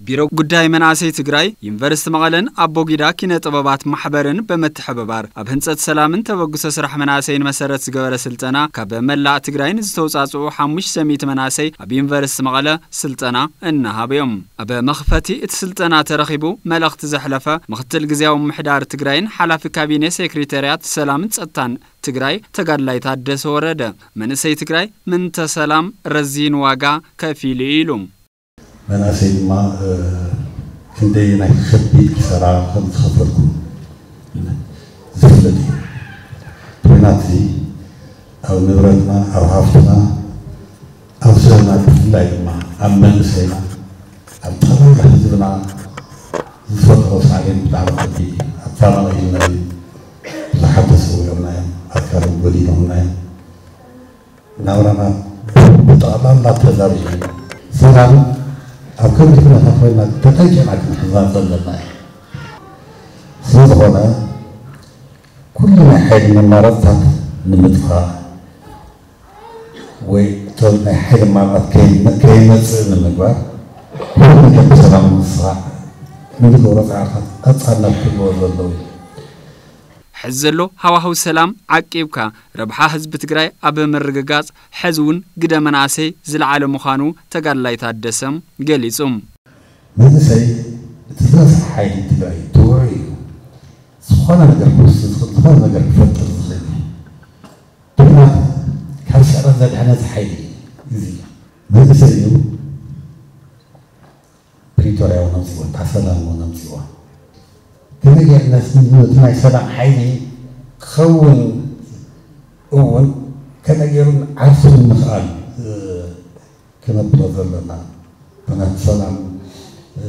ቢሮ ጉዳይ መናእሰይ ትግራይ፣ ዩኒቨርሲቲ መቐለን ኣቦጊዳ ኪነ ጥበባት ማሕበርን ብምትሕብባር ኣብ ህንፀት ሰላምን ተበግሶ ስራሕ መናእሰይን መሰረት ዝገበረ ስልጠና ካብ መላእ ትግራይ ንዝተውፃፅኡ ሓሙሽተ ሚእቲ መናእሰይ ኣብ ዩኒቨርሲቲ መቐለ ስልጠና እናሃቡ እዮም። ኣብ መኽፈቲ እቲ ስልጠና ተረኺቡ መልእኽቲ ዘሕለፈ ምክትል ግዝያዊ ምምሕዳር ትግራይን ሓላፊ ካቢኔ ሴክሬታርያት ሰላምን ጸጥታን ትግራይ ተጋድላይ ታደሰ ወረደ፣ መንእሰይ ትግራይ ምእንተ ሰላም ረዚን ዋጋ ከፊሉ እዩ ኢሉ። መናእሰይ ድማ፣ እ፣ ክንደየናይ ከቢድ ኪሳራ ከም ዝኸፈልኩም ዝፍለጥ እዩ። ኩናት እዚ ኣብ ንብረትና፣ ኣብ ሃፍትና፣ ኣብ ስርና፣ ብፍላይ ድማ ኣብ መንእሰይና፣ ኣብ ጠቕላላ ህዝብና ዝፈጥሮ ሳዕቤን ብጣዕሚ ከቢድ እዩ። ኣፋናቒልና እዩ። ብዙሓት ተሰዊኦምና እዮም፣ ኣካሎም ጎዲሎምና እዮም። ናብራና ብጠቕላላ ተዛቢሑ እዩ። ሰላም ኣብ ከምዚ ኩነታት ኮይና ተጠንቂቕና ክንሕዛ ዘለና እዩ። ስለዝኾነ ኩሉ ናይ ሓይሊ መማረፅታት ንምጥፋእ ወይ እቶም ናይ ሓይሊ መማረፅታት ከይ-፣ ከይመፅእ ንምግባር ኩሉ ነገር ብሰላም ንምስራዕ እንገብሮ ፃዕርታት ቀፃልነት ክህልዎ ዘለዎ እዩ። ሕዚ ዘሎ ሃዋህው ሰላም ዓቂብካ ረብሓ ህዝቢ ትግራይ ኣብ ምርግጋፅ ሕዚ እውን ግደ መናእሰይ ዝለዓለ ምዃኑ ተጋድላይ ታደሰ ገሊፁ። መንእሰይ እቲ ዝበዝሐ ሓይሊ ትግራይ ትውዑይ እዩ። ዝኾነ ነገር ክውስን ዝኽእል፣ ዝኾነ ነገር ክፈጥር ዝኽእል እዩ። ኩናት ካብ ስዕረት ዘድሐነ እዚ ሓይሊ እዩ። እዚ መንእሰይ እዩ። ፕሪቶርያ እውን ኣምፅዎ፣ እታ ሰላም እውን ኣምፅዎ። ከመይ ጌርና ነቲ ናይ ሰላም ሓይሊ ክኸውን እውን ከመይ ገይሩ ዓርሱ ንምኽኣል፣ እ፣ ክነብሮ ዘለና ኩነት ሰላም፣ እ፣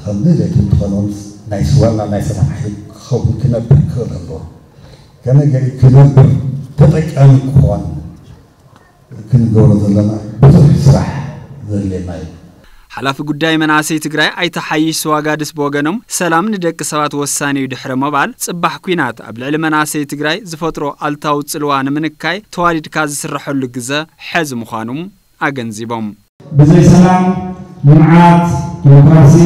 ከም ድሌቱ እንትኾን እውን ናይ ዋና ናይ ሰላም ሓይሊ ክኸውን ክነብር ክኽእል ኣለዎ። ከመይ ገይሩ ክነብር ተጠቃሚ ክኾን ክንገብሮ ዘለና ብዙሕ ስራሕ ዘድልየና እዩ። ሓላፊ ጉዳይ መናእሰይ ትግራይ ኣይተ ሓይሽ ስዋጋድስ ብወገኖም፣ ሰላም ንደቂ ሰባት ወሳኒ እዩ ድሕሪ ምባል፣ ጽባሕ ኲናት ኣብ ልዕሊ መናእሰይ ትግራይ ዝፈጥሮ ኣሉታዊ ጽልዋ ንምንካይ ተዋዲድካ ዝስረሐሉ ግዘ ሕዚ ምዃኑ ኣገንዚቦም። ብዘይ ሰላም፣ ልምዓት፣ ዲሞክራሲ፣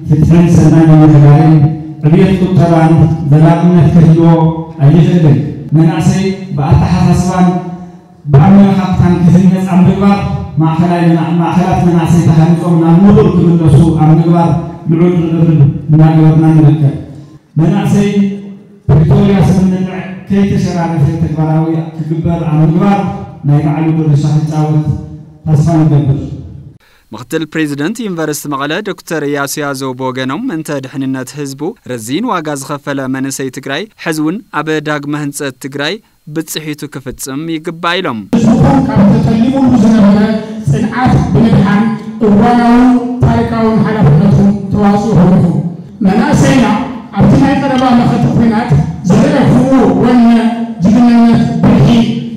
ፍትሕን ሰናይ ምምሕዳርን ዕብየት ቁጠባን ዘላቕነት ክህልዎ ኣይኽእልን። መናእሰይ ብኣተሓሳስባን ብኣመለኻኽታን ክህነፅ ኣብ ምግባር፣ ማእኸላይ መና-፣ ማእኸላት መናእሰይ ተሃኒፆም ናብ ንቡር ክምለሱ ኣብ ምግባር ልዑል ርብርብ እናገበርና ንርከብ። መናእሰይ ፕሪቶርያ ስምምዕ ከይተሸራረፈ ተግባራዊ ክግበር ኣብ ምግባር ናይ ባዕሉ ድርሻ ክጫወት ተስፋ ንገብር። ምክትል ፕሬዚደንት ዩኒቨርሲቲ መቐለ ዶክተር እያሱ ያዘው ብወገኖም፣ እንተ ድሕንነት ህዝቡ ረዚን ዋጋ ዝኸፈለ መንእሰይ ትግራይ ሕዚ እውን ኣብ ዳግመ ህንፀት ትግራይ ብፅሒቱ ክፍፅም ይግባእ ኢሎም። ህዝብኹም ካብ ተተሊሙሉ ዝነበረ ፅንዓት ብምድሓን እዋናውን ታሪካውን ሓላፍነትኩም ተዋፂእኹም ኢኹም። መናእሰይና ኣብቲ ናይ ቀረባ መኸተ ኲናት ዘርኣኹምዎ ወነ፣ ጅግንነት፣ ብርሒ፣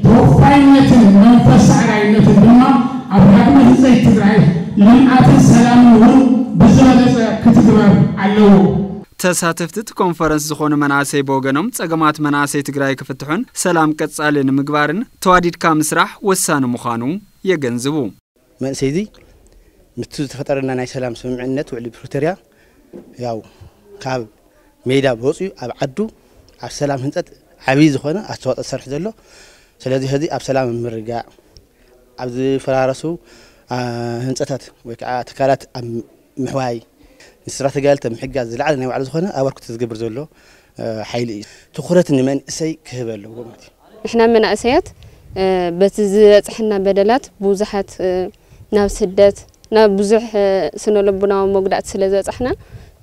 ተወፋይነትን መንፈስ ሰዕራይነትን ድማ ኣብ ዳግመ ህንፀት ትግራይ፣ ልምዓትን ሰላምን እውን ብዝበለፀ ክትግበር ኣለዎ። ተሳተፍቲ እቲ ኮንፈረንስ ዝኾኑ መናእሰይ ብወገኖም፣ ጸገማት መናእሰይ ትግራይ ክፍትሑን ሰላም ቀጻሊ ንምግባርን ተዋዲድካ ምስራሕ ወሳኒ ምዃኑ የገንዝቡ። መንእሰይ እዚ ምስቲ ዝተፈጠረልና ናይ ሰላም ስምምዕነት ውዕሊ ፕሪቶርያ፣ ያው ካብ ሜዳ ወፂኡ ኣብ ዓዱ ኣብ ሰላም ህንፀት ዓብዪ ዝኾነ ኣስተዋፅኦ ዝሰርሕ ዘሎ። ስለዚ ሕዚ ኣብ ሰላም ምርጋእ፣ ኣብ ዝፈራረሱ፣ አ፣ ህንፀታት ወይ ከዓ ትካላት ኣብ ምሕዋይ፣ ንስራ ተጋደልቲ ኣብ ምሕጋዝ ዝለዓለ ናይ ባዕሉ ዝኾነ ኣበርክቶ ዝገብር ዘሎ፣ እ፣ ሓይሊ እዩ። ትኹረት ንመንእሰይ ክህብ ኣለዎ ማለት እዩ። ንሕና መናእሰያት፣ እ፣ በቲ ዝበፅሐና በደላት ብዙሓት፣ እ፣ ናብ ስደት፣ ናብ ብዙሕ፣ እ፣ ስነ ልቡናዊ መጉዳእቲ ስለ ዝበፃሕና፣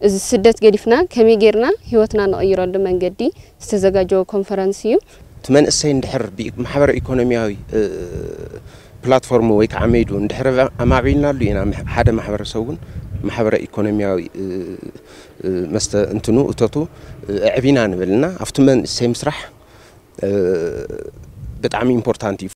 እዚ ስደት ገዲፍና ከመይ ጌርና ህይወትና ንቕይረሉ መንገዲ ዝተዘጋጀወ ኮንፈረንስ እዩ። እቲ መንእሰይ እንድሕር ብኢ-፣ ማሕበረ ኢኮኖሚያዊ፣ እ፣ ፕላትፎርም ወይ ከዓ ሜዱ እንድሕር ኣማዕቢልናሉ ኢና፣ ምሕ-፣ ሓደ ማሕበረሰብ እውን ማሕበረ ኢኮኖሚያዊ፣ እ፣ እ፣ መስተ እንትኑ እቶቱ፣ እ፣ ኣዕቢና ንብል እና ኣብቲ መንእሰይ ምስራሕ፣ እ፣ ብጣዕሚ ኢምፖርታንት እዩ።